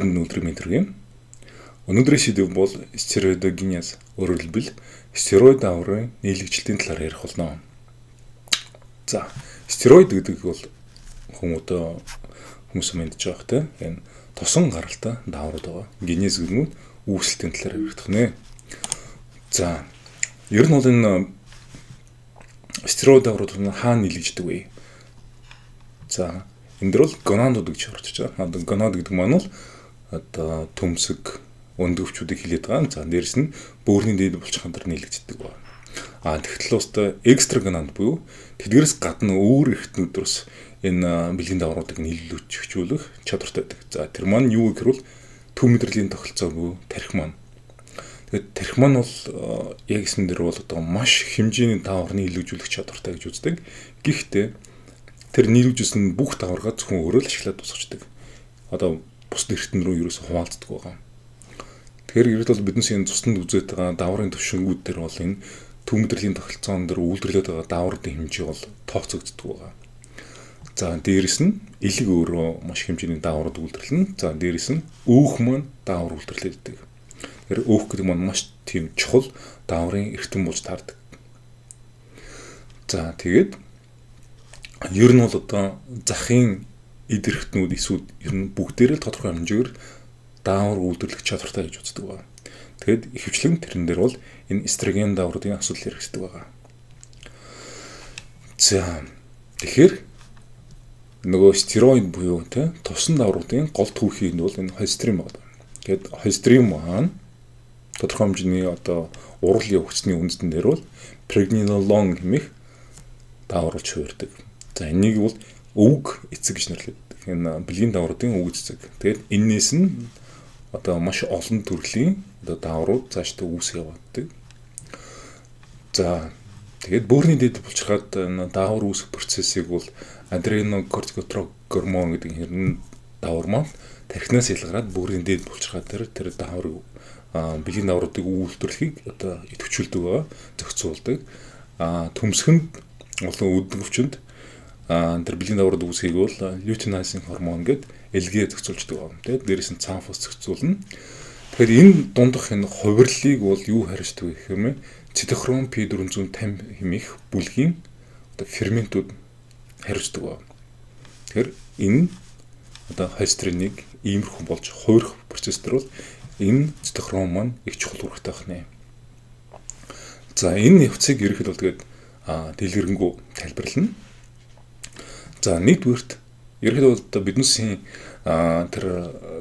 Өдөр мэдрэг. Өнөөдрийн сэдэв бол стероидогенез, өөрөөр хэлбэл стероид даврын нийлэгчлэлтийн талаар ярих болно. За, стероид гэдэг бол хүмүүс мэдж байгаа те. Энэ тосон гаралтай даврууд байгаа. Генез гэнүүд үүсэлтийн талаар ярих нэ. За, ер нь бол энэ стероид даврууд хаана нийлэгддэг вэ? За, энэ дөр бол гонадууд гэж орчиж байгаа. Гонад гэдэг маань бол одоо төмсөг өндөвчүүдийг хилээд байгаа. За, дээрэс нь бөөрийн дээд булчирхаан дээр нийлэгддэг байна. Тэгтэл устдаа экстра гонад буюу тэдгээрээс гадна өөр эрхтнүүдээс энэ бэлгийн давруудыг нийлүүлчихүүлэх чадвартай байдаг. За, тэр маань юу гэвэл төв мэдрэлийн тохиролцоо буюу тархи маань. Тэгээд тархи маань бол яг эсмэн дээр бол одоо маш хэмжээний давар нийлүүлжүүлэх чадвартай гэж үздэг. Гэхдээ тэр нийлүүлжсэн бүх даваргаа зөвхөн өөрөө л ашиглаад дуусгачдаг. Одоо бус эрхтэн рүү ерөөсө хуваалцдаг байгаа. Тэгэхээр ерөөд бол биднээс энэ цуснд үзээд байгаа даврын төвшингүүд дээр бол энэ төв мэдрэлийн тохиролцоон дээр үйлдвэрлээд байгаа даврын хэмжээ бол тооцогддог байгаа. За, дээрэс нь элэг өөрөө маш хэмжээний даврууд үйлдвэрлэнэ. За, дээрэс нь өөх маань давар үйлдвэрлэдэг. Тэгэхээр өөх гэдэг маань маш тийм чухал даврын эрхтэн болж таардаг. За, тэгээд ер нь бол одоо захын эд эрхтнүүд эсвэл ер нь бүгдээрээ л тодорхой хэмжээгээр давар үйлдвэрлэх чадвартай гэж үздэг байна. Тэгэд ихэвчлэн тэрэн дээр бол энэ эстроген давруудын асуудал хэрэгждэг байгаа. За, тэгэхээр нөгөө стероид буюу те тосон давруудын гол түүхий нь бол энэ холестерин байна. Тэгэд холестерин маань тодорхой хэмжээний одоо урал явагдсны үндэстэн дээр бол пregnenolone хэмээх давар болж хувирдаг. За, энийг бол өвөг эцэг гэж нэрлэдэг. Энэ бэлгийн давруудын өвөг эцэг. Тэгэд энээс нь одоо маш олон төрлийн одоо даврууд цаашдаа үүсгэж явагддаг. За, тэгээд бөөрийн дэд булчирхаад энэ давар үүсэх процессыг бол адренокортикотроп гормон гэдэг хэрнэн давар маань тархинаас ялгараад бөөрийн дэд булчирхаа дээр тэр даврыг бэлгийн давруудыг үйлдвэрлэхийг одоо идэвхжүүлдэг байгаа, зохицуулдаг. Төмсгөнд олон үдгөвчөнд тэр бэлгийн даврууд үүсхийг бол лютeinizing гормон гэдэг элгээ зохицуулдаг байна. Тэгээд дээрээс нь цанфос зохицуулна. Тэгэхээр энэ дундах энэ хувирлыг бол юу харьцдаг вэ гэхээр цитохром P450 хэмээх бүлгийн одоо ферментүүд харьцдаг байна. Тэгэхээр энэ одоо холестериныг иймэрхүү болж хувирах процесс дээр бол энэ цитохром маань их чухал үүрэгтэй байна. За, энэ явцыг ерөнхийдөө бол тэгээд дэлгэрэнгүй тайлбарлана. За, нэгдүгээрт ерөнхийдөө одоо биднээсийн тэр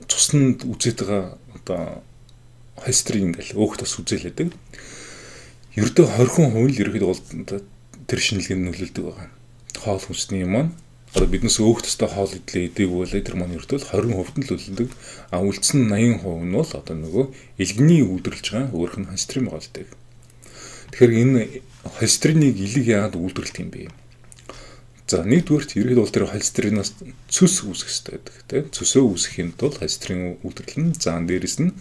цуснд үзээд байгаа одоо холестерин ингээл өөх тос үзээлэдэг. Ердөө 20% л ерөнхийдөө бол тэр шинжилгээнд нөлөөлдөг байгаа. Хоол хүнсний маань одоо биднээс өөх тостой хоол идээг бол тэр маань ердөө 20% нь л нөлөөлдөг. Үлдсэн 80% нь бол одоо нөгөө элгэний үйлдвэрлэж байгаа өөрөх нь холестерин байгаа л дээ. Тэгэхээр энэ холестериныг элэг яагаад үйлдвэрлэдэг юм бэ? За, нэгдүгээрт ерөнхийдөө бол тэр холестеринаас цөс үүсэх хэрэгтэй байдаг. Тэ цөсөө үүсгэхийн тулд холестерин үйлдвэрлэнэ. За, дээрэс нь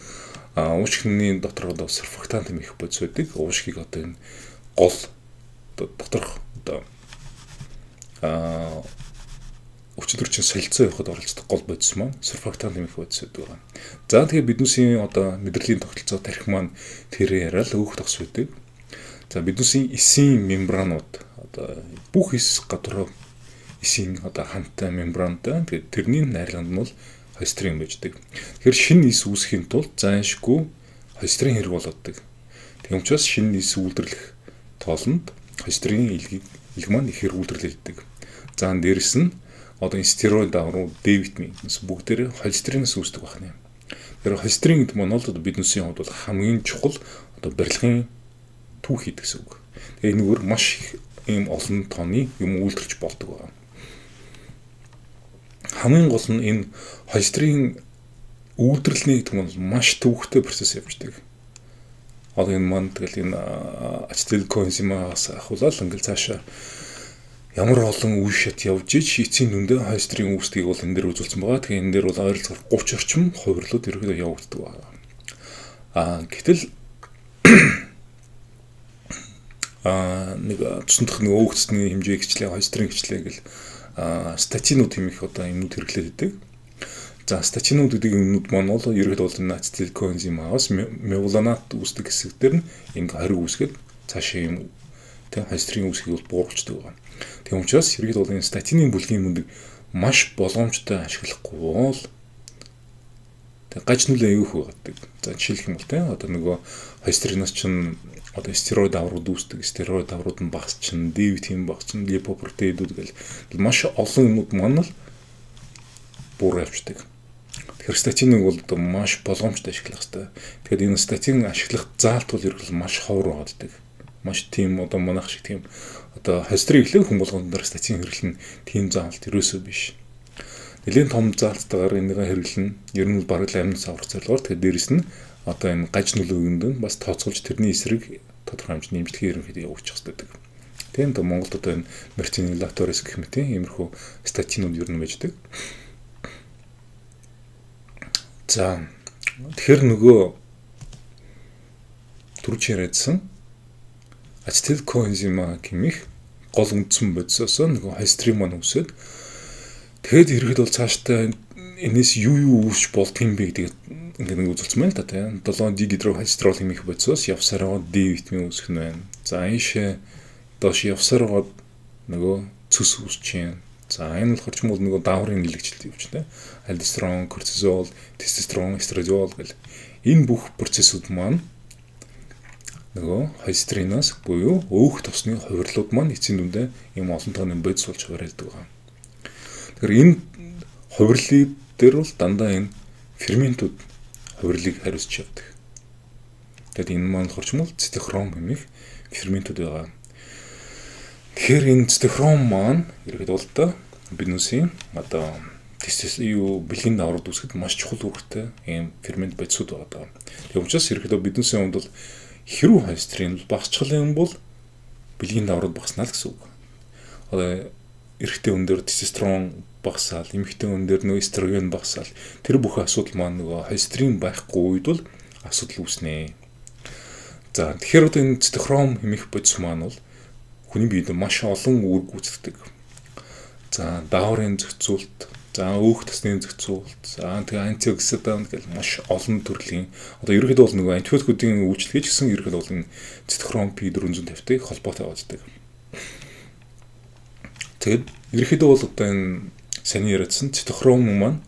уушгины дотор одоо сурфактант хэмээх бодис байдаг. Уушгийг одоо энэ гол доторх одоо өчигдөрчин солилцоо явахад оролцдог гол бодис маань сурфактант хэмээх бодис байдаг. За, тэгээ биднээсийн одоо мэдрэлийн тогтолцоо тархи маань тэр яриад өөх тогс байдаг. За, биднээсийн эсийн мембранууд одоо бүх эс гадуур эсийн одоо хамттай мембрантай. Тэгээд тэрний найрлаганд нь бол холестерин байждаг. Тэгэхээр шинэ эс үүсгэхийн тулд зайлшгүй холестерин хэрэг болдог. Тийм учраас шинэ эс үйлдвэрлэх тоолонд холестерин элэг маань их хэрэг үйлдвэрлэдэг. За, дээрэс нь одоо энэ стероид давруу Д витамин бүгдээрээ холестеринээс үүсдэг байна. Тэр холестерин гэдэг маань бол биднээсийн хувьд бол хамгийн чухал одоо барилгын түүхий гэсэн үг. Тэгээ энэгээр маш их ийм олон тооны юм үйлдвэрч болдог байна. Хамгийн гол нь энэ холестерин үйлдвэрлэлийн гэдэг нь маш төвөгтэй процесс явждаг. Одоо энэ маань тэгэл энэ ацетил коэнзимаас ахуулаад ингээл цаашаа ямар олон үе шат явж ич эцсийн дүндээ холестерин үүсдгийг бол энэ дээр үзүүлсэн байгаа. Тэгэхээр энэ дээр бол ойролцоогоор 30 орчим хувирлууд ерөөдөө явагддаг байна. Гэтэл нэг цусндах нэг өөгцсний хэмжээ хчлээ, холестерин хчлээ гэл статинууд хэмээх одоо юмнууд хэрэглээд байдаг. За статинууд гэдэг юмнууд маань бол ерөнхийдөө бол ацетил коэнзимаас мевланат үүсдэг хэсэгтэр нь ингэ хориг үүсгээд цаашаа юм тэг холестерин үүсгийг бол бууруулдаг байна. Тийм учраас ерөнхийдөө бол энэ статины бүлгийн мөндөг маш боломжтой ашиглахгүй бол тэг гаж нүлээ аюух байдаг. За жишээлх юм бол тэг одоо нөгөө холестериноос чинь одоо стероид аврууд үүсдэг, стероид аврууд нь багц чинь, D витамин багц чинь, липопротеидүүд гэл маш олон юмуд маань л буураа явчихдаг. Тэгэхээр статиныг бол одоо маш болгоомжтой ашиглах хэрэгтэй. Тэгэхээр энэ статин ашиглах заалт бол ерөнхийдөө маш ховор болдог. Маш тийм одоо манайх шиг тийм одоо холестерин ихлэх хүн болгонд дээр статин хэрэглэн тийм заалт ерөөсөө биш. Нэлийн том заалттайгаар энэгээ хэрэглэн ер нь бараг л амин савар зорилгоор тэгэхээр дээрэс нь одоо энэ гаж нөлөөнд нь бас тооцоолж тэрний эсрэг тодорхой хэмжээний нэмжлэгийг ерөнхийдөө явуучих хэрэгтэй. Тийм одоо Монголд одоо энэ мертинилаторис гэх мэт иймэрхүү статинууд ер нь байждаг. За тэгэхээр нөгөө түрүүч яриадсан ацетил коэнзима гэмих гол үндсэн бодисоос нөгөө холестерин маань үсээд тэгэхэд ерөөд бол цаашдаа энэс юу үүсч болдго юм бэ гэдэг ингээд нэг үзүүлсэн байна л да тийм 7 дигидрохолестерол хэмээх бодисоос явсараа D витамин үүсгэх нь байна. За ийшээ доош явсараа нөгөө цөс үүсч юм. За энэ болохоор ч юм бол нөгөө дааврын нэлэгжилт явж байна. Альдостерон, кортизол, тестостерон, эстрадиол гэл энэ бүх процессууд маань нөгөө холестериноос буюу өөх тосны хувирлууд маань эцсийн дүндээ юм олон тооны бодис болж хувиралдаг байна. Тэгэхээр энэ хувирлын дээр бол дандаа энэ ферментүүд хувирлыг хариуцж явдаг. Тэгэд энэ маань болохоор ч юм бол цитохром хэмээх ферментүүд байгаа. Тэгэхээр энэ цитохром маань ерөөд бол та биднээсийн одоо бэлгийн дааврууд үүсгэхэд маш чухал үүрэгтэй ийм фермент бодисууд байгаа. Тийм учраас ерөөдөө биднээсийн хувьд бол хэрүү холестерин багасчлах юм бол бэлгийн дааврууд багаснаа л гэсэн үг. Одоо эрэгтэй хүн дээр тестостерон багасаал, эмэгтэй хүн дээр нөгөө эстроген багасаал тэр бүх асуудал маань нөгөө холестерин байхгүй үед бол асуудал үүснэ. За тэгэхээр одоо энэ цитохром хэмээх бодис маань бол хүний биед маш олон үүрэг гүйцэтгэдэг. За дааврын зохицуулт, за өөх тосны зохицуулт, за тэгээ антиоксидант гэл маш олон төрлийн одоо ерөнхийдөө бол нөгөө антибиотикуудын үйлчлэгээ ч гэсэн ерөнхийдөө бол энэ цитохром P450-тэй холбоотой байдаг. Тэгээд ерөнхийдөө бол одоо энэ саний яриадсан цитохром маань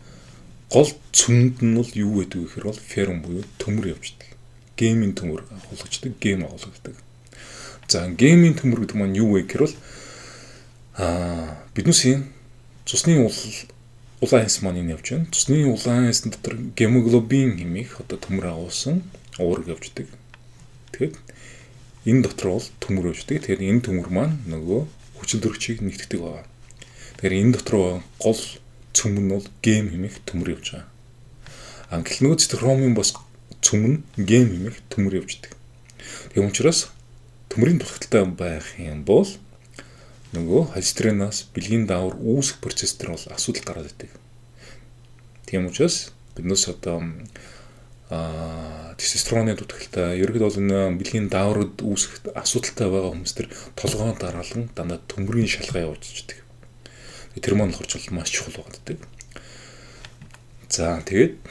гол цөмөнд нь бол юу гэдэг вэ гэхээр бол ферм буюу төмөр явждаг. Гемийн төмөр хулгачдаг, гем агуулгадаг. За гемийн төмөр гэдэг маань юу вэ гэхээр бол биднээсийн цусны улаан хэс маань энэ явж байна. Цусны улаан хэсн дотор гемоглобин хэмээх одоо төмөр агуулсан уурэг явждаг. Тэгэхээр энэ дотор бол төмөр явждаг. Тэгэхээр энэ төмөр маань нөгөө хүчин төрөгчийг нэгтгэдэг байна. Тэгэхээр энэ дотор гол цөм нь бол гем хэмээх төмөр явж байгаа. Англи нөгөө цитохромын бас цөм нь гем хэмээх төмөр явждаг. Тийм учраас төмрийн дутагдaltaй байх юм бол нөгөө холестериноос бэлгийн даавар үүсэх процесс дээр бол асуудал гараад идэг. Тийм учраас биднээс одоо тестостероны дутагдaltaй ерөөд бол энэ бэлгийн дааврууд үүсэх асуудалтай байгаа хүмүүс төр толгойн дараалан дандаа төмрийн шалгаа явуулчихдаг. Тэр маань болохоор ч маш чухал байдаг. За тэгээд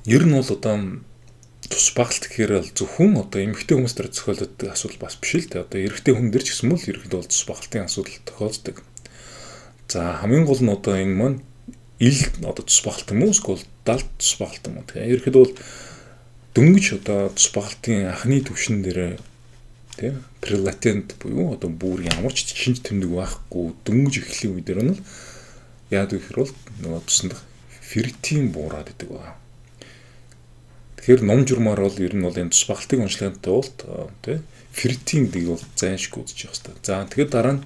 ер нь бол одоо тус багт гэхээр л зөвхөн одоо эмэгтэй хүмүүс дээр зохиолддог асуудал бас биш л дээ. Одоо эрэгтэй хүн дээр ч гэсэн мөл ерөөдөө бол тус багтын асуудал тохиолддог. За хамгийн гол нь одоо энэ маань ил одоо тус багт юм уу эсвэл далд тус багт юм уу. Тэгэхээр ерөөдөө бол дөнгөж одоо тус багтын анхны төвшин дээр тийм прелатент буюу одоо бүр ямар ч шинж тэмдэг байхгүй дөнгөж эхлэх үе дээр нь л яад гэхээр бол нөгөө тусанд ферритин буураад идэг байна. Тэгэхээр ном журмаар бол ер нь бол энэ тус багтыг уншлагын тулд тий ферритин гэдэг бол зайлшгүй үзчих хэвээр. За тэгэхээр дараа нь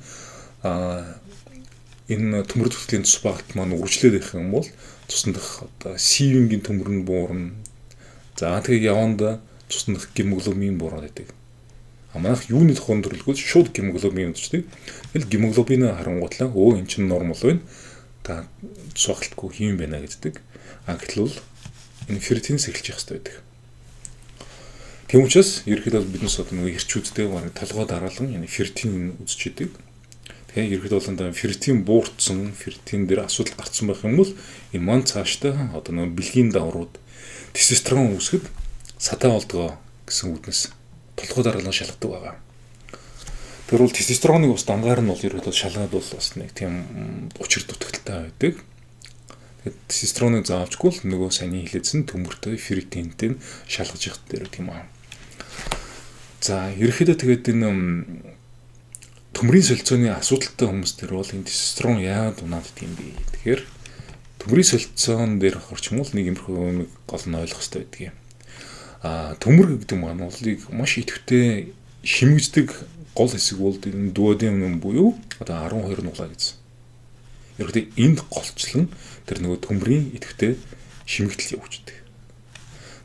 энэ төмөр төслийн тус багт маань үргэлжлээд байх юм бол цуснах одоо сивингийн төмөр нь буурна. За тэгээ яванда цуснах гемоглобин буураад идэг. Манайх юуны тухайн төрлгөл шууд гемоглобин үздэг. Тэгэл гемоглобин харангуутлаа өө эн чинь нормал байна. Та цугалтгүй хийм байна гэдэг. Гэтэл бол энэ ферритинс эхэлж явах хэрэгтэй байдаг. Тийм учраас ерөөхдөө биднес одоо нөгөө эрчүүдтэй толгой дараалан энэ ферритин үзэж идэг. Тэгээ ерөөд бол ферритин буурсан, ферритин дээр асуудал гарсан байх юм бол энэ маань цаашдаа одоо нэг бэлгийн даврууд тестостерон үүсгэд сатаа болдгоо гэсэн үгнээс толгой дараалал шалгадаг байгаа. Тэр бол тестостероныг бас дангаар нь бол ерөөд шалгаад бол бас нэг тийм учир дутагдaltaй байдаг. Тэгээд тестостероныг заавчгүй л нөгөө саний хилээдсэн төмөртэй ферритинтэй шалгаж явах дээр тийм аа. За ерөөхдөө тэгээд энэ төмрийн солилцооны асуудалтай хүмүүс дээр бол энэ тестостерон яагаад унаад юм бэ? Тэгэхээр төмрийн солилцоон дээр орчмол нэг юмрхүү нэг гол нь ойлгох хэрэгтэй байдаг юм. Төмөр гэдэг маань болыг маш идэвхтэй шимэгддэг гол хэсэг бол энэ дуоден буюу одоо 12 нуглаа гэсэн. Ерөөхдөө энд голчлон тэр нөгөө төмрийн идэвхтэй шимэгдэл явуулдаг.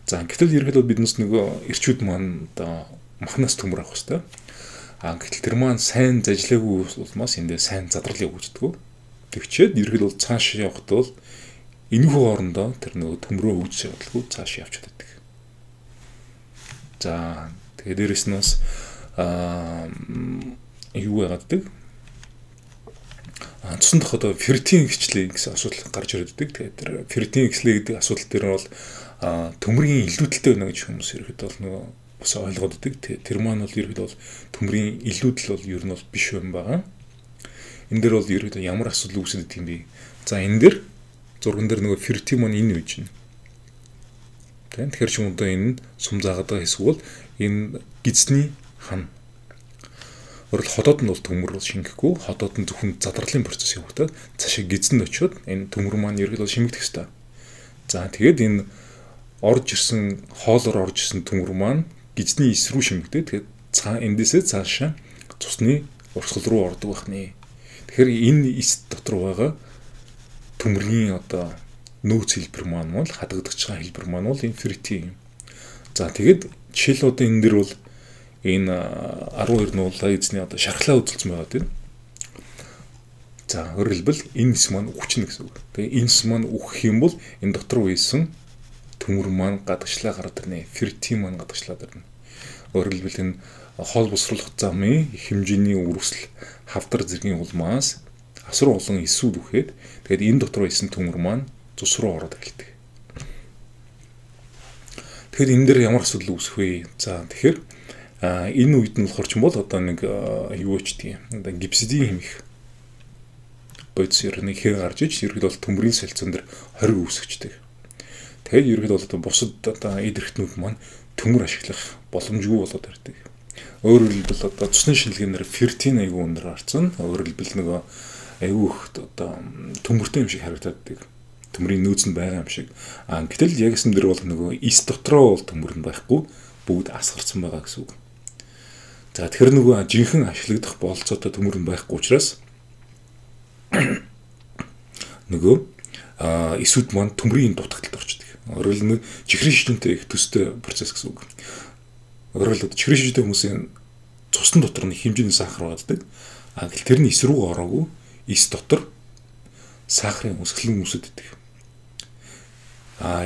За гэтэл ерөөхдөө биднес нөгөө эрчүүд маань одоо махнаас төмөр авах хэрэгтэй. Гэтэл тэр маань сайн зажлаагүй улмаас эндээ сайн задрал явуулдаг. Тэгчээд ерөөхдөө бол цааш явахд бол энэхүү хоорондоо тэр нөгөө төмрөө өвдөж явуулдаг цааш явж чаддаг. За тэгээд дээрэс нь бас юу яагадаг? Цусан дахь одоо ферритин гिचлээ гэсэн асуудал гарч ирдэг. Тэгээд тэр ферритин гिचлээ гэдэг асуудал дээр бол төмрийн илүүдэлтэй байна гэж хүмүүс ерөөхдөө бол нөгөө бас ойлгоод байдаг. Тэр маань бол ерөөхдөө бол төмрийн илүүдэл бол ер нь бол биш юм байгаа. Энэ дээр бол ерөөхдөө ямар асуудал үүсэдэг юм бэ? За энэ дээр зурган дээр нөгөө ферритин маань энэ үеж байна. Тэгэхээр ч юм одоо энэ сум заагаад байгаа хэсэг бол энэ гидсний хан. Өөрөлд ходоод нь бол төмөр бол шингэхгүй, ходоод нь зөвхөн задралын процесс явагдаад цаашаа гидсэнд очиод энэ төмөр маань ерөөхдөө шимэгдэх ёстой. За тэгээд энэ орж ирсэн хоолоор орж ирсэн төмөр маань гидсний эс рүү шимэгдээд тэгээд эндээсээ цаашаа цусны урсгал руу ордог байх нэ. Тэгэхээр энэ эс дотор байгаа төмөрийн одоо нөөц хэлбэр маань бол хадагдаж байгаа хэлбэр маань бол энэ ферритин юм. За тэгээд жишээл одоо энэ дэр бол энэ 12 нуулаа эзний одоо шархлаа үзүүлсэн байгаа тийм. За өөрөөр хэлбэл энэ эс маань үхчихнэ гэсэн үг. Тэгээ энэ эс маань үхэх юм бол энэ дотор үйсэн төмөр маань гадагшлаа гараад ирнэ. Ферритин маань гадагшлаад ирнэ. Өөрөөр хэлбэл энэ хоол босруулах замын хэмжээний үргэлжил хавдар зэргийн улмаас асар олон эсүүд үхээд тэгээд энэ дотор үйсэн төмөр маань цус руу ороод эхэлдэг. Тэгэхээр энэ дээр ямар асуудал үүсэх вэ? За тэгэхээр энэ үед нь болохоор ч юм бол одоо нэг юу ч тийм одоо гипсидийн хэмэх бодис нэг хэр гарч иж ерөөд бол төмрийн солилцоон дээр хориг үүсгэждэг. Тэгээд ерөөд бол одоо бусад одоо эд эрхтнүүд маань төмөр ашиглах боломжгүй болоод ирдэг. Өөрөөр хэлбэл одоо цусны шинжилгээнээр ферритин аягүй өндөр гарсан. Өөрөөр хэлбэл нөгөө аягүй их одоо төмөртэй юм шиг харагдаад байдаг. Төмрийн нөөц нь байгаа юм шиг. Гэтэл яг эсэм дээр бол нөгөө эс дотроо бол төмөр нь байхгүй бүгд асгарсан байгаа гэсэн үг. За тэгэхээр нөгөө жинхэнэ ашиглагдах болцоотой төмөр нь байхгүй учраас нөгөө эсүүд маань төмрийн дутагдалд орчдөг. Өөрөөр хэлбэл чихрийн шижинтэй их төстэй процесс гэсэн үг. Өөрөөр хэлбэл чихрийн шижинтэй хүмүүсийн цусны дотор нэг хэмжээний сахар байдаг. Гэтэл тэр нь эс рүү ороогүй эс дотор сахарын өсгөлэн үүсэт байдаг.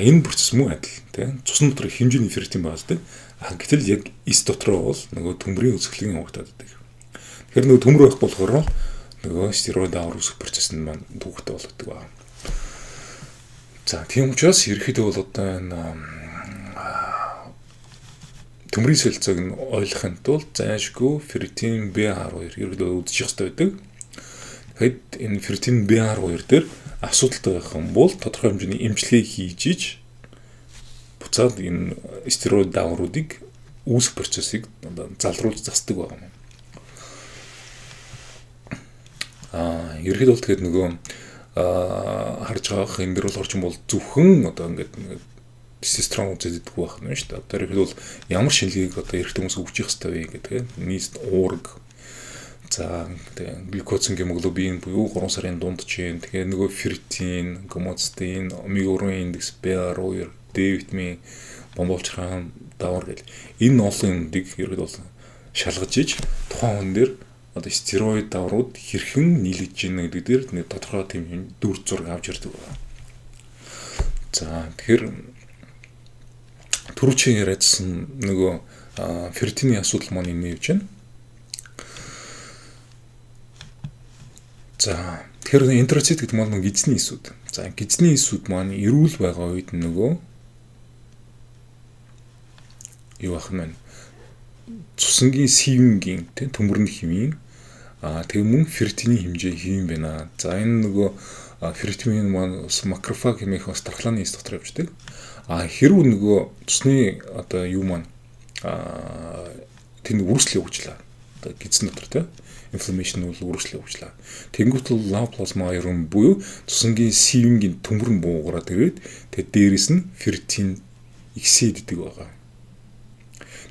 Энэ процесс мөн адил тийм цусны дотор хэмжээний ферритин байдаг. Гэтэл яг эс дотроо бол нөгөө төмрийн өсгөлэн явагдаад байдаг. Тэгэхээр нөгөө төмөр байх болохоор нөгөө стероид авар үүсэх процесс нь маань түүхтэй болдог байна. За тийм учраас ерөөхдөө бол одоо энэ төмрийн солилцоог нь ойлгохын тулд зайлшгүй ферритин B12 ерөөдөө үзчих хэрэгтэй байдаг. Тэгэхэд энэ ферритин B12 дээр асуудалтай байх юм бол тодорхой хэмжээний эмчилгээ хийж иж буцаад энэ стероид давруудыг үүсэх процессыг залруулж засдаг байна. Ерөөдөө бол тэгэхээр нөгөө харж байгаа энэ дэр бол орчин бол зөвхөн одоо ингээд тестостерон үзэгддэг байх нь шүү дээ. Одоо ихэд бол ямар шинжилгээг одоо эрэгтэй хүмүүс өгчих хэвээр вэ гэдэг нийт уург. За тэгээ глюкозын гемоглобин буюу 3 сарын дундчийн тэгээ нөгөө ферритин, гомоцистеин, омега-3 индекс, B12, D витамин, бомболчран, давар гэл энэ олон юмдыг ихэд бол шалгаж иж тухайн хүн дээр одоо стероид даврууд хэрхэн нийлэж байна гэдэг дээр нэг тодорхой тийм дүр зураг авч ирдэг байна. За тэгэхээр түрүүчийн яриадсан нөгөө ферритины асуудал маань энэ явж байна. За тэгэхээр энтероцит гэдэг нь гидсний эсүүд. За гидсний эсүүд маань эрүүл байгаа үед нөгөө юу ах нь цусангийн сивингийн төмөрний хэвийн тэг мөн ферритиний хэмжээ хэвэн байна. За энэ нөгөө ферритин маань макрофаг хэмээх бас дархлааны эс дотор явждаг. Хэрвээ нөгөө цусны одоо юу маань тэнд үргэлжлэл явуулчлаа. Одоо гидсэн дотор тийм инфламашн бол үргэлжлэл явуулчлаа. Тэнгуут лав плазма ерөн буюу цусангийн сивингийн төмөр нь буугараад ирээд тэг дээрэс нь ферритин иксид гэдэг байгаа.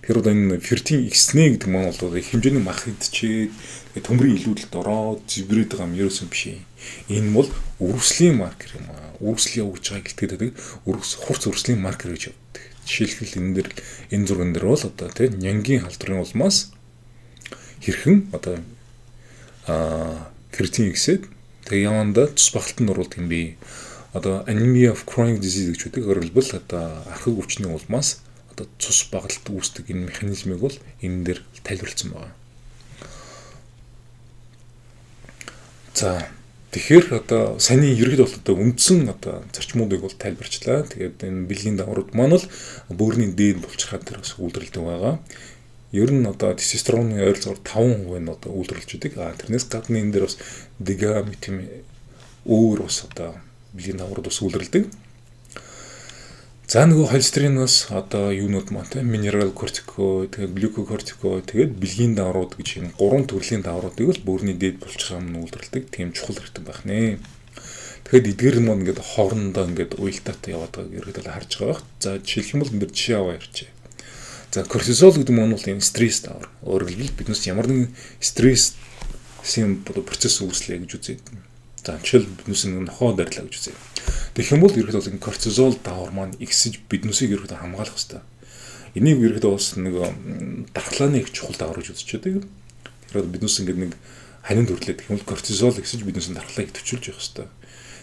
Тэгэхээр одоо энэ ферритин икснэ гэдэг маань бол хэмжээний мах идчихэд төмрийн илүүдэлд ороод зэврээд байгаа юм ерөөсөн биш юм. Энэ бол үргэлжлийн маркер юм аа. Үргэлжлэл явуулж байгаа гэлтгээд хурц үргэлжлийн маркер гэж явдаг. Жишээлбэл энэ зурган дээр бол одоо тийм нянгийн халдварын улмаас хэрхэн одоо ферритин иксэд тэг яванда цус багталтанд оруулдаг юм бэ. Одоо anemia of chronic disease гэж үүдэг. Өөрөлдвөл одоо архаг өвчний улмаас цус багалт үүсдэг энэ механизмыг бол энэ дээр тайлбарлсан байна. За тэгэхээр одоо саний ерөөд бол одоо үндсэн одоо зарчмуудыг бол тайлбарчлаа. Тэгээд энэ бэлгийн даврууд маань бол бөөрийн дээд булчирхаад тэр бас үйлдвэрлэдэг байгаа. Ер нь одоо тестостероны ойролцоогоор 5% нь одоо үйлдвэрлэж идэг. Тэрнээс гадна энэ дээр бас дигамитин өөр бас одоо бэлгийн даврууд бас үйлдвэрлэдэг. За нөгөө холестериноос одоо юунууд маань те минерал кортикоид, тэгээд глюкокортикоид, тэгээд бэлгийн даврууд гэж юм 3 төрлийн давруудыг л бөөрийн дээд булчирхам нь үйлдвэрлэдэг. Тийм чухал хэрэгтэй байх нэ. Тэгэхэд эдгээр нь ингээд хоорондоо ингээд уялдаатай яваад байгааг ерөөдөө харж байгаа. За жишээлх юм бол энэ дэр жишээ аваа ярьчих. За кортизол гэдэг нь бол энэ стресс давар. Өөрөөр хэлбэл биднээс ямар нэгэн стрессийн процесс үүслэе гэж үзээд. За жишээл биднээс нохоо дарилаа гэж үзье. Тэгэх юм бол ерөөдөө энэ кортизол давар маань ихсэж биднээсийг ерөөдөө хамгаалах хэрэгтэй. Энийг ерөөдөө бас нэг дархлааны их чухал давар гэж үзэж байдаг. Тэгэхээр биднээс ингээд нэг ханин төрлөө гэх юм бол кортизол ихсэж биднээс дархлааг төвчүүлж явах хэрэгтэй.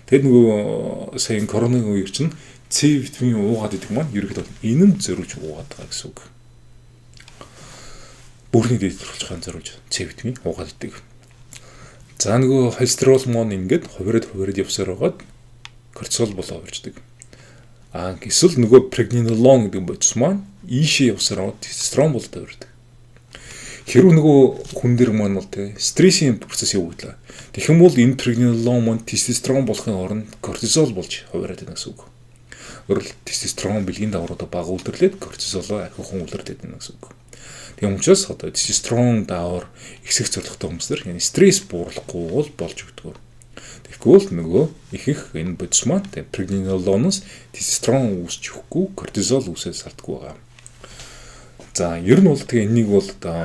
Тэгээд нөгөө сая коронавигийн үеэр чинь С витамин уугаад идэг маань ерөөдөө энэ нь зориулж уугаад байгаа гэсэн үг. Бөөрийн дээд булчирхам зориулж С витамин уугаад идэг. За нөгөө холестерол маань ингээд хувираад явсаар байгаад кортизол болоо хувирчдаг. Эсвэл нөгөө прегнинолон гэдэг бодис маань ийшээ явсаар аваад тестостерон болоод хувирдаг. Хэрвээ нөгөө хүн дээр маань бол тэ стрессийн процесс явуулаа. Тэгэх юм бол энэ прегнинолон маань тестостерон болохын оронд кортизол болж хувираад байна гэсэн үг. Өөрөлд тестостерон бэлгийн давруудаа бага үйлдвэрлээд кортизолоо ахиухан үйлдвэрлэдэг байна гэсэн үг. Тийм учраас одоо тестостерон давар ихсэх зорилготой хүмүүсээр yani стресс бууруулахгүй бол болж өгдөг. Тэгвэл нөгөө их энэ бодис маань прегнинолоноос тестостерон үүсч өгөхгүй кортизол үүсэж сарддаг байгаа. За ер нь бол тэгээ энийг бол одоо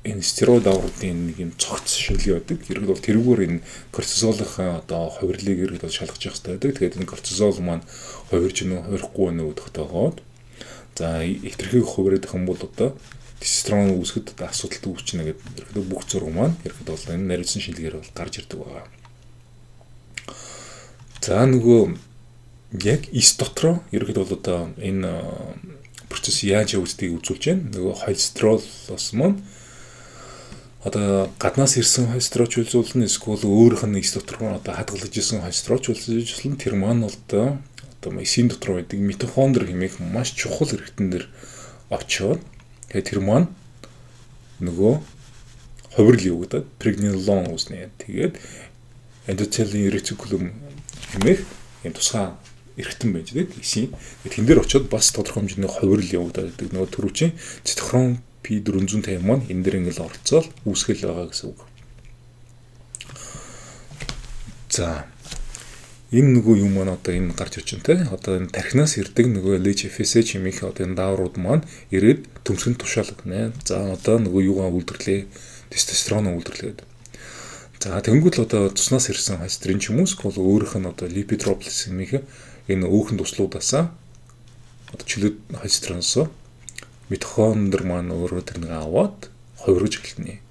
энэ стероид давруудын нэг юм цогц шинжилгээ байдаг. Ерөнхийдөө бол тэрүүгээр энэ кортизолын одоо хувирлыг ерөнхийдөө шалгаж явах хэрэгтэй байдаг. Тэгээд энэ кортизол маань хувирж нөө хувихгүй нөө гэдэгт байгаад за эвтэрхийг хувираад их юм бол одоо тестостерон үүсгэхэд асуудалтай үүснэ гэдэг ерөнхийдөө бүх зураг маань ерөнхийдөө бол энэ наривсан шинжилгээр бол гарч ирдэг байгаа. За нөгөө яг эс дотроо ерөнхийдөө бол одоо энэ процесс яаж явагдгийг үзүүлж байна. Нөгөө холестеролоос маань одоо гаднаас ирсэн холестеролч үзүүлнэ эсвэл өөрийнх нь эс дотор одоо хадгалж исэн холестеролч үзүүлнэ тэр маань бол одоо эсийн дотор байдаг митохондри хэмээх маш чухал хэрэгтэн дээр очиод тэгээд тэр маань нөгөө хувирал явагдаад прегнинолон үүснэ. Тэгээд эндотелийн ретикулум хэмээх энэ тусгай эргэтэн байж дээ эсийн. Тэн дээр очиод бас тодорхой хэмжээний хувирал явагдаад байдаг. Нөгөө төрүүчийн цитохром P450 маань энэ дээр ингээл оролцоод үүсгэл байгаа гэсэн үг. За энэ нөгөө юм маань одоо энэ гарч ирж байна те. Одоо энэ тархинаас ирдэг нөгөө LHFSH хэмээх одоо энэ дааврууд маань ирээд төмсгөнд тушаалгана. За одоо нөгөө юугаа үйлдвэрлэе? Тестостерон үйлдвэрлэгээд. За тэнгуүл одоо цуснаас ирсэн холестерин ч юм уу эсвэл өөрийнх нь одоо липидроплис хэмээх энэ өөхөн туслуудаасаа одоо чөлөөт холестериноос митохондри маань өөрөө тэрнийг аваад хувирж эхэлнэ.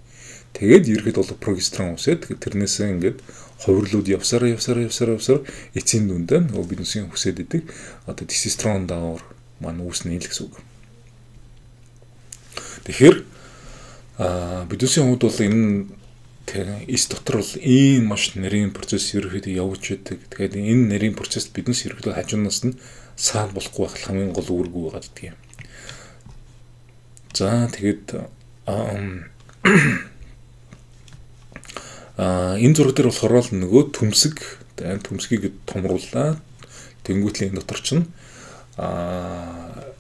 Тэгээд ерхэд бол прогестерон үсээд тэрнээсээ ингээд хувирлууд явсаар эцсийн дүндээ нөгөө биднээсийн хүсээд идэг одоо тестостерон даавар маань үүснэ л гэсэн үг. Тэгэхээр биднээсийн хувьд бол энэ Тэгээ эс дотор бол ийм маш нарийн процесс ерөөхдөө явж байдаг. Тэгэхээр энэ нарийн процесс биднес ерөөхдөө хажуунаас нь саал болохгүй байх хамгийн гол үүрэг байгаа гэдэг юм. За тэгээд энэ зураг дээр болохоор л нөгөө төмсгийг томрууллаа. Тэнгүүтлийн дотор чинь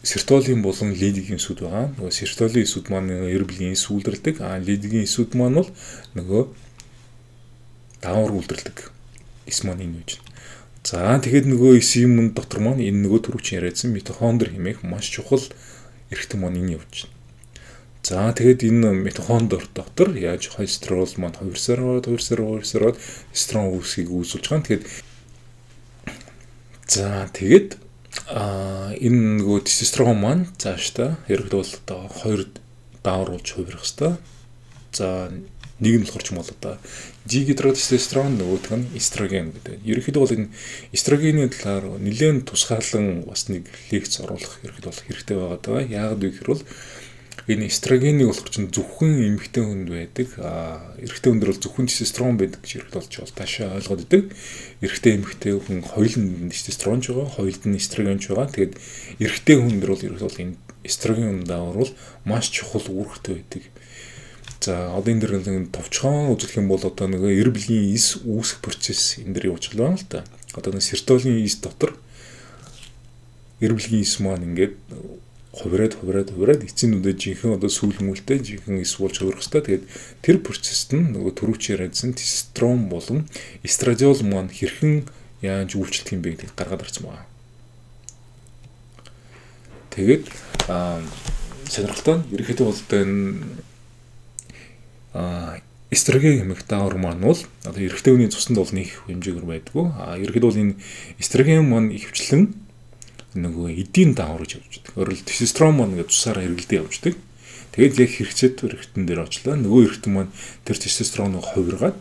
сертолин болон лидигийн эсүүд байгаа. Нөгөө сертолин эсүүд маань эрблийн эс үлдэрдэг. Лидигийн эсүүд маань бол нөгөө даавар үлдэрдэг. Эс маань энэ үж. За тэгээд нөгөө эсийн дотор маань энэ нөгөө түрүүч яриадсан митохондри хэмээх маш чухал эрхтэн маань энэ явж байна. За тэгээд энэ митохондри дотор яаж холестерол маань 2 сард эстрон үүсгийг үүсүүлж байгаа. Тэгээд за тэгээд энэ нөгөө тестостерон маань цаашдаа ерөөдөө бол одоо 2 даавар болж хувирах хэвээр. За нэг нь болохоор ч юм бол одоо дигидротестостерон нөгөөх нь эстроген гэдэг. Ерөөхдөө бол энэ эстрогений талаар нэлээд тусгаалan бас нэг лекц оруулах ерөөхдөө бол хэрэгтэй байгаа даа. Яагаад вэ гэхээр бол энэ эстрогенийг болохоор чинь зөвхөн эмэгтэй хүнд байдаг. Эрэгтэй хүнд бол зөвхөн тестостерон байдаг гэж ерөөхдөө бол таашаа ойлгоод идэг. Эрэгтэй эмэгтэй хүн хоёуланд тестостерон ч байгаа, хоёулд нь эстроген ч байгаа. Тэгээд эрэгтэй хүнд бол ерөөхдөө бол энэ эстроген даавар бол маш чухал үүрэгтэй байдаг. За одоо энэ дэр товчхон үзүүлэх юм бол одоо нөгөө эрблийн эс үүсэх процесс энэ дэр явж байгаа л да. Одоо нэг сертолин эс дотор эрблийн эс маань ингээд хувираад эцсийнүдээ жинхэнэ одоо сүүл мүлтэй жинхэнэ эс болж хувирах хэвээр. Тэгээд тэр процессд нь нөгөө түрүүчээр ярьсан тестостерон болон эстрадиол маань хэрхэн яаж үйлчлэх юм бэ гэдгийг гаргаад ирсэн байна. Тэгээд сонирхолтой нь ерөнхийдөө бол энэ эстроген хэмээх даавар маань бол одоо эрэгтэй хүний цуснд бол нэг хэмжээгээр байдгүй. Ерөнхийдөө бол энэ эстроген маань ихэвчлэн нөгөө эдийн даавар гэж явж байдаг. Өөрөлд тестостерон маань ингээд цусаараа эргэлдээ явждаг. Тэгээд яг хэрэгцээт эрэгтэн дээр очлаа. Нөгөө эрэгтэн маань тэр тестостероныг хувиргаад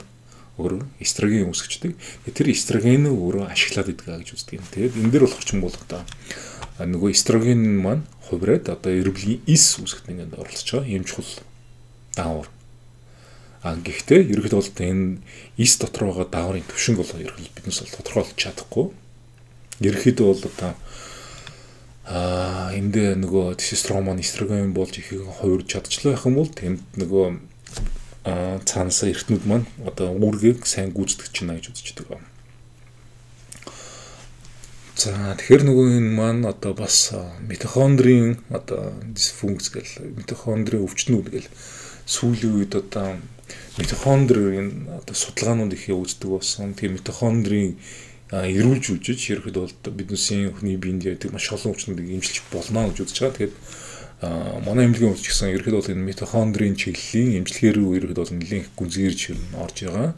өөрөө эстроген үүсгэждэг. Тэр эстрогеныг өөрөө ашиглаад идэг гэж үздэг юм. Тэгээд энэ дээр болох ч юм бол одоо нөгөө эстроген маань хувираад одоо эрблийн эс үүсгэхэд ингээд оролцож байгаа юм чухал даавар. Гэхдээ ерөнхийдөө бол энэ эс дотор байгаа дааврын төвшинг бол ерөнхийдөө биднээс бол тодорхойлж чадахгүй. Ерөнхийдөө бол одоо энд нөгөө тестостерон маань эстроген болж ихийг хувирж чадчихлаа гэх юм бол тэнд нөгөө цаанасаа эртнүүд маань одоо үүргийг сайн гүйцэтгэж байна гэж үздэг байна. За тэгэхээр нөгөө энэ маань одоо бас митохондрийн одоо дисфункц гэл митохондрийн өвчтнүүд гэл сүүлийн үед одоо митохондрийн одоо судалгаанууд их явагддаг болсон. Тэгээ митохондрийн эрүүлж үжиж ерөөхдөө бол бидний хүний биед яадаг маш олон өвчнүүдийг эмчилж болно гэж үзэж байгаа. Тэгээд манай эмнэлгийн өвч гэсэн ерөөхдөө бол энэ митохондрийн чиглэлийн эмчилгээ рүү ерөөхдөө бол нэлээд гүнзгийрж орж байгаа.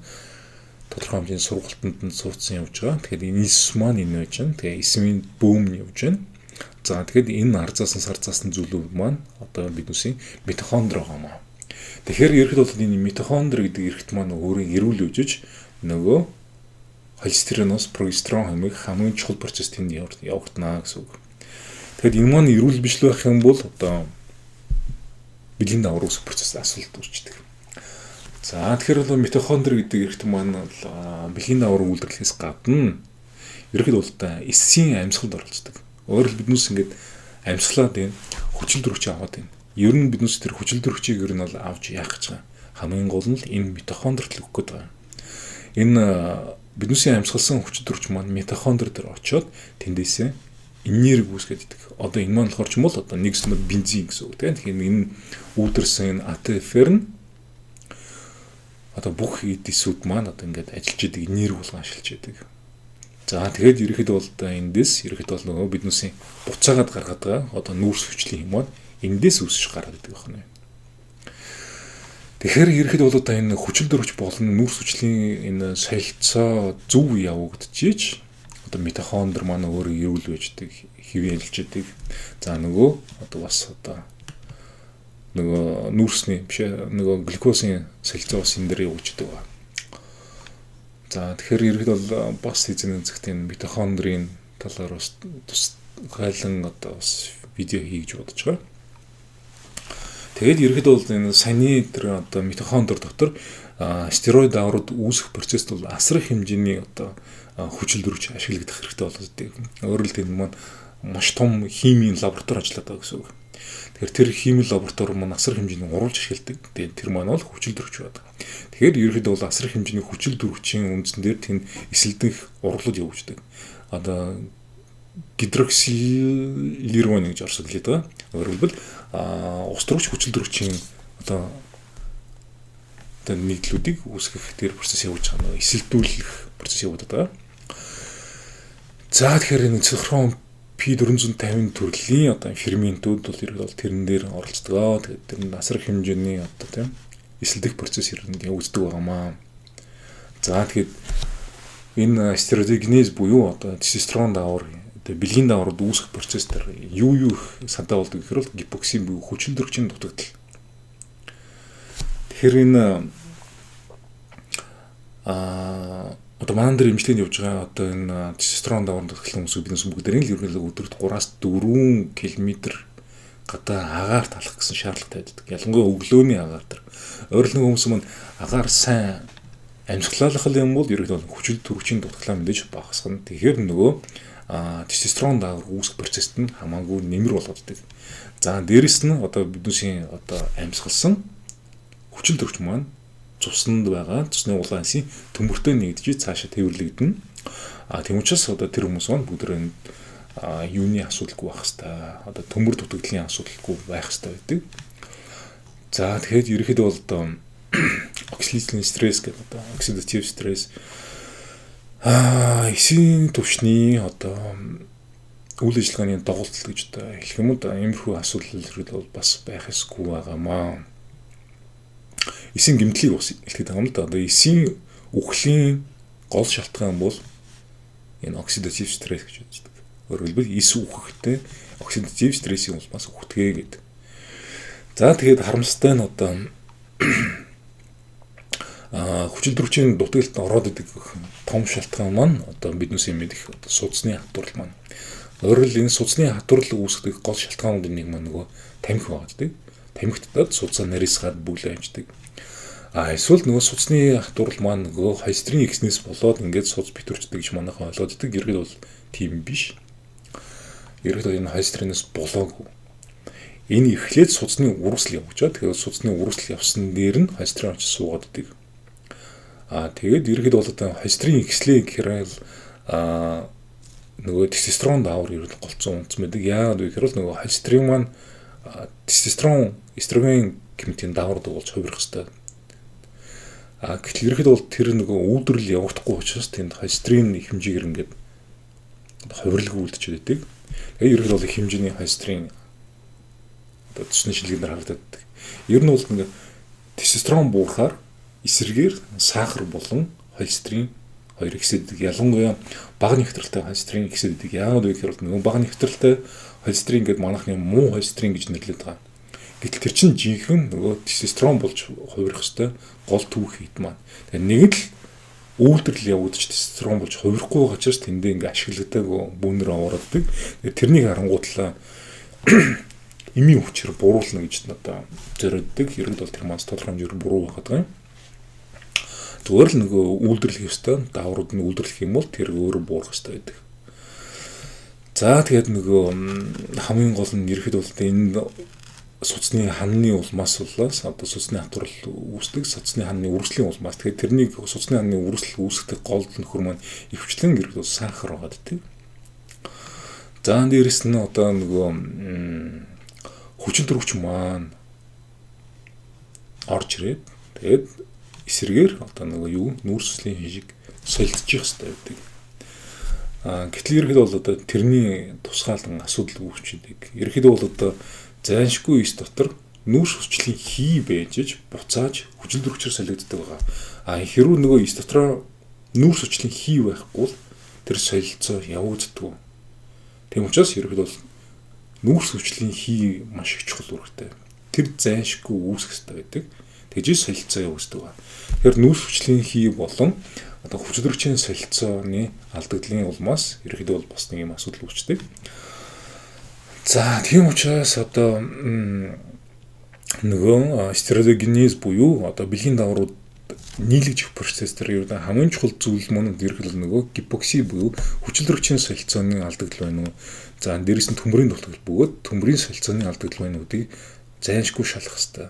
Тодорхой хэмжээний сургалтанд нь сурцсан явж байгаа. Тэгэхээр энэ эс маань энэ байж байна. Тэгээ эсмийн бөөм нь явж байна. За тэгэхэд энэ арзаасан сарзаасан зүйлүүд маань одоо бидний митохондри байгаа юм. Тэгэхээр ерөөхдөө бол энэ митохондри гэдэг эрхт маань өөрөө эрүүл үжиж нөгөө холестериноос прогестерон хэмээх хамгийн чухал процесс тэнд явагдана гэсэн үг. Тэгэхэд энэ маань эрүүл биш л байх юм бол одоо бэлгийн даавар үүсэх процесс асуулт үүсчдэг. За тэгэхээр бол митохондри гэдэг эрхт маань бэлгийн даавар үйлдвэрлэхээс гадна ерөөхдөө бол эсийн амьсгалд оролцдог. Өөрөөр биднээс ингээд амьсгалаад байна, хүчил төрөгч аваад байна. Ер нь биднээс тэр хүчил төрөгчийг ер нь бол авч яах гэж байгаа. Хамгийн гол нь энэ митохондрт л өгөх гээд байгаа. Энэ бидний амьсгалсан хүчил төрөгч маань митохондри дээр очиод тэндээсээ энерги үүсгэж идэг. Одоо энэ маань болохоор ч юм бол одоо нэгсмэр бензин гэсэн үг тийм. Тэгэхээр энэ үүдэрсэн энэ АТФ-ээр нь одоо бүх эдисүүд маань одоо ингээд ажиллаж идэг энерги болгон ашиглаж идэг. За тэгээд ерөөхдөө бол эндээс ерөөхдөө бол нөгөө бидний буцаагаад гаргаад байгаа одоо нүүрс хүчлийн юм маань эндээс үүсэж гараад идэг байна. Тэгэхээр ерөөхдөө бол одоо энэ хүчил төрөгч болон нүүрс хүчлийн энэ солилцоо зөв явагдчихж одоо митохондри маань өөрөө эрүүл байждаг, хөвөлж идэг. За нөгөө одоо бас одоо нөгөө нүүрсний биш нөгөө глюкозын солилцоо бас энэ дээр явагддаг байна. За тэгэхээр ерөөхдөө бол бас эзэн зэгтийн митохондрийн талаар бас тусгайлан одоо бас видео хийж бодож байгаа. Тэгээд ерөөхдөө бол энэ саяны тэр одоо митохондри дотор стероид даврууд үүсэх процесст бол асар их хэмжээний одоо хүчил дөрвч ашиглагдах хэрэгтэй болоод идэг. Өөрөөр хэлбэл маань маш том химийн лаборатори ажилладаг байгаа гэсэн үг. Тэгэхээр тэр химийн лаборатори маань асар хэмжээний уруулж ашигладаг. Тэгээд тэр маань бол хүчил дөрвч байдаг. Тэгэхээр ерөнхийдөө бол асар хэмжээний хүчил дөрвчийн үндсэн дээр тэнд эсэлдэх урлууд явуулдаг. Одоо гидроксилирван гэж орсод хэлээд байгаа. Өөрөөр хэлбэл устрагч хүчил дөрвчийн одоо нийтлүүдийг үүсгэх тэр процесс явуулж байгаа. Эсэлдүүлэх процесс явуулдаг. За тэгэхээр энэ цифрон P450 төрлийн одоо ферментүүд бол ерөнхийдөө тэрэн дээр оролцдог. Тэгээд тэр нь асар хэмжээний одоо тийм эсэлдэх процесс явагддаг байгаамаа. За тэгэхээр энэ стероидогенез буюу одоо тестостерон даавар одоо бэлгийн дааврууд үүсэх процесс дээр юу их санаа болдог гэхээр бол гипоксин буюу хүчил дөрвчийн дутагдал. Тэгэхээр энэ одоо маань дээр эмчилгээнд явж байгаа одоо энэ тестостерон даавар дутагдaltaй хүмүүсүүд биднээс бүгдээрээ л ерөнхийдөө өдөрт 3-4 км гадаа агаарт алах гэсэн шаардлагатай байдаг. Ялангуяа өглөөний агаар дээр. Өөрөлдөн хүмүүс маань агаар сайн амьсгалах юм бол ерөнхийдөө хүчил дөрвчийн дутагдлаа мэдээж багасгана. Тэгэхээр нөгөө тестостерон даавар үүсэх процессд нь хамаагүй нэмэр болоод идэг. За дээрэс нь одоо бидний одоо амьсгалсан хүчил дөрвч маань цуснд байгаа цусны улаансын төмөртөө нэгдэж цаашаа тэрвэрлэгдэнэ. Тийм учраас одоо тэр хүмүүс маань бүгд юуны асуудалгүй байх хэвээр одоо төмөр дутагдлын асуудалгүй байх хэвээр байдаг. За тэгэхээр ерөнхийдөө бол одоо оксидативный стресс гэдэг одоо оксидатив стресс эсийн түвшний одоо үйл ажиллагааны доголдол гэж одоо хэлэх юм да иймэрхүү асуудал бол бас байх ёсгүй байгаамаа. Эсийн гэмтлийг бас хэлэхэд байгаа юм да. Одоо эсийн үхлийн гол шалтгаан бол энэ оксидатив стресс гэж үздэг. Өөрөөр хэлбэл эс үхэхтэй оксидатив стрессийн улмаас үхдэг гэдэг. За тэгээд харамсалтай нь одоо хүчил дөрвчийн дутагдлалд ороод идэг том шалтгаан маань одоо биднээс мэдих судасны хатварл маань. Өөрөөр хэлбэл энэ судасны хатварл үүсгэх гол шалтгаануудын нэг маань нөгөө тамхи байдаг. Тамхитад судасаа нарийсгаад бүглээ амждаг. Эсвэл нөгөө судасны хатварл маань нөгөө холестерин ихснээс болоод ингээд судас битүүрчдэг гэж манайхан ойлгоод идэг. Ерөнхийдөө бол тийм биш. Ерөнхийдөө энэ холестеринээс болоогүй. Энэ эхлээд судасны үрсэл явуулчаад тэгээд судасны үрсэл явсан дээр нь холестерин очиж суугаад идэг. Тэгээд ерөнхийдөө бол одоо холестерин ихслээ гэхээр нөгөө тестостерон даавар ерөнхийдөө голцсон үндэс мэдэг. Яагаад вэ гэхээр нөгөө холестерин маань тестостерон эстроген гэмтийн даавар дуулж хувирах хэвээр. Гэтэл ерөнхийдөө бол тэр нөгөө үүдрэл явагдахгүй учраас тэнд холестерин их хэмжээгээр ингээд хувирлаг үлдчихэд байдаг. Тэгээд ерөнхийдөө бол их хэмжээний холестерин одоо цусны шилгээнээр харагдаад. Ер нь бол ингээд тестостерон буурахаар эсрэгээр сахар болон холестерин хоёр ихсэдэг. Ялангуяа бага нэвтрэлтэй холестерин ихсэдэг. Яагаад вэ гэхээр нөгөө бага нэвтрэлтэй холестерин гэдэг манайхны муу холестерин гэж нэрлэдэг байгаа. Гэтэл тэр чинь жинхэнэ нөгөө тестостерон болж хувирах хэвээр гол түүх хэд маань. Тэгээ нэг л үйлдвэрлэл явагдаж тестостерон болж хувирахгүй байгаа учраас тэндээ ингээ ашигладаг бүүнээр авааддаг. Тэрнийг харангуутлаа эмийн хүчээр буруулна гэж надад зориоддаг. Ерөнхийдөө бол тэр маань тодорхой хэмжээгээр буруу байгаад байгаа юм. Зүгээр л нөгөө үйлдвэрлэх ёстой дааврууд нь үйлдвэрлэх юм бол тэр өөрөө буурах ёстой байдаг. За тэгээд нөгөө хамгийн гол нь ерөнхийдөө бол энэ судасны ханны улмаас болоос одоо судасны хатварл үүсдэг судасны ханны үрслийн улмаас тэгээд тэрнийг судасны ханны үрсэл үүсгэх гол нөхөр маань ихвчлэн ерөнхийдөө сахар байгаад тийм. За дээрэс нь одоо нөгөө хүчин дөрвч маань орж ирээд тэгээд эсрэгээр одоо нөгөө юу нүүрс цэцлийн хишиг солилцчих хэрэгтэй байдаг. Гэтэл ерөнхийдөө бол одоо тэрний тусгаалan асуудал үүсчихэд ерөнхийдөө бол одоо зайлшгүй эс дотор нүүрс хүчлийн хий байж буцааж хүчил дөрвчээр солигддог байгаа. Хэрвээ нөгөө эс дотроо нүүрс хүчлийн хий байхгүй бол тэр солилцоо явагддаг. Тийм учраас ерөнхийдөө бол нүүрс хүчлийн хий маш их чухал үүрэгтэй. Тэр зайлшгүй үүсэх хэрэгтэй байдаг. Тэгжээ солилцоо явагддаг. Тэгэхээр нүүрс хүчлийн хий болон одоо хүчил дөрвчийн солилцооны алдагдлын улмаас ерөнхийдөө бол бас нэг юм асуудал үүсдэг. За тийм учраас одоо нөгөө стероидогенез буюу одоо бэлгийн дааврууд нийлэгдэх процесс дээр ердөө хамгийн чухал зүйл маань ерөнхийдөө нөгөө гипокси буюу хүчил төрөгчийн солилцооны алдагдал байна уу. За дээрэс нь төмрийн дутагдал бөгөөд төмрийн солилцооны алдагдал байна үүдийг зайлшгүй шалах хэрэгтэй.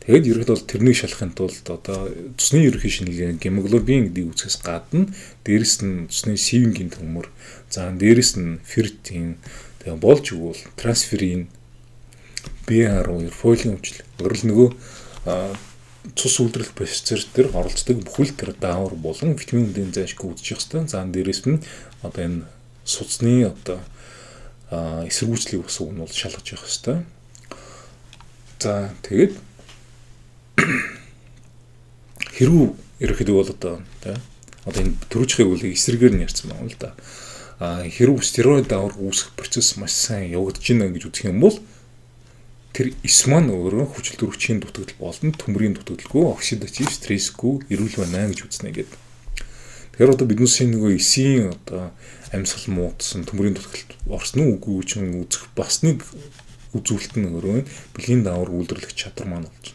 Тэгээд ерөнхийдөө тэрнийг шалахын тулд одоо цусны ерөнхий шинжилгээ гемоглобин гэдэг үзэсгээс гадна дээрэс нь цусны сивингийн төмөр, за дээрэс нь ферритин, тэгээд болж өгвөл трансферин, BR2, фолиум хүчил, өөрөлд нөгөө цус үйлдвэрлэх процесс дээр оролцдог бүхэл тэр даавар болон витамин D зайлшгүй үзчих хэвээр. За дээрэс нь одоо энэ судасны одоо эсэргүүцлийг бас уг нь бол шалгаж явах хэвээр. За тэгээд хэрүү ерөөхдөө бол одоо энэ төрөжхийг үл эсрэгээр нь ярьсан байна л да. Хэрүү стероид даавар үүсэх процесс маш сайн явагдаж байна гэж үзэх юм бол тэр эс маань өөрөө хүчил төрөгчийн дутагдал болон төмрийн дутагдалгүй оксидатив стрессгүй эрүүл байна гэж үзнэ гэдэг. Тэгэхээр одоо бидний нөгөө эсийн одоо амьсгал муудсан төмрийн дутагдлалд орсон уу үгүй чинь үзэх бас нэг үзүүлэлт нь өөрөө бэлгийн даавар үйлдвэрлэх чадвар маань болж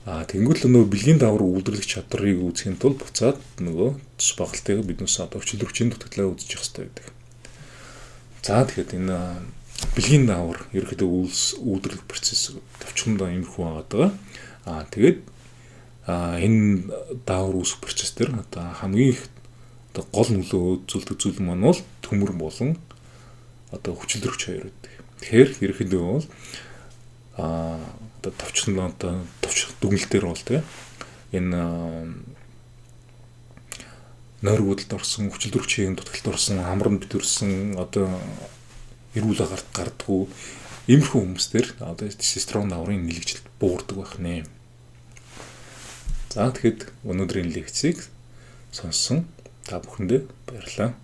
байна. Тэнгүүл нөгөө бэлгийн даавар үйлдвэрлэх чадрыг үүсгэхийн тулд буцаад нөгөө цус багалтайгаа биднээс одоо хүчил төрөгчийн дутагдлаа үзэж явах хэрэгтэй байдаг. За тэгэхээр энэ бэлгийн даавар ерөөхдөө үйлдвэрлэх процесс товчхондоо иймэрхүү байгаа. Тэгээд энэ даавар үүсэх процесс дээр одоо хамгийн их одоо гол нөлөө үзүүлдэг зүйл маань бол төмөр болон одоо хүчил төрөгч хоёр байдаг. Тэгэхээр ерөөхдөө бол одоо товчхондоо одоо товчх дүгнэлт дээр бол энэ нойргуудад орсон хүчил төрөгчийн дутагдлалд орсон амранд битэрсэн одоо эрүүл агарт гардггүй иймэрхүү хүмүүстэр одоо тестостерон дааврын нэлэгжилт буурдаг байх нэ. За тэгэхэд өнөөдрийн лекцийг сонссон та бүхэндээ баярлалаа.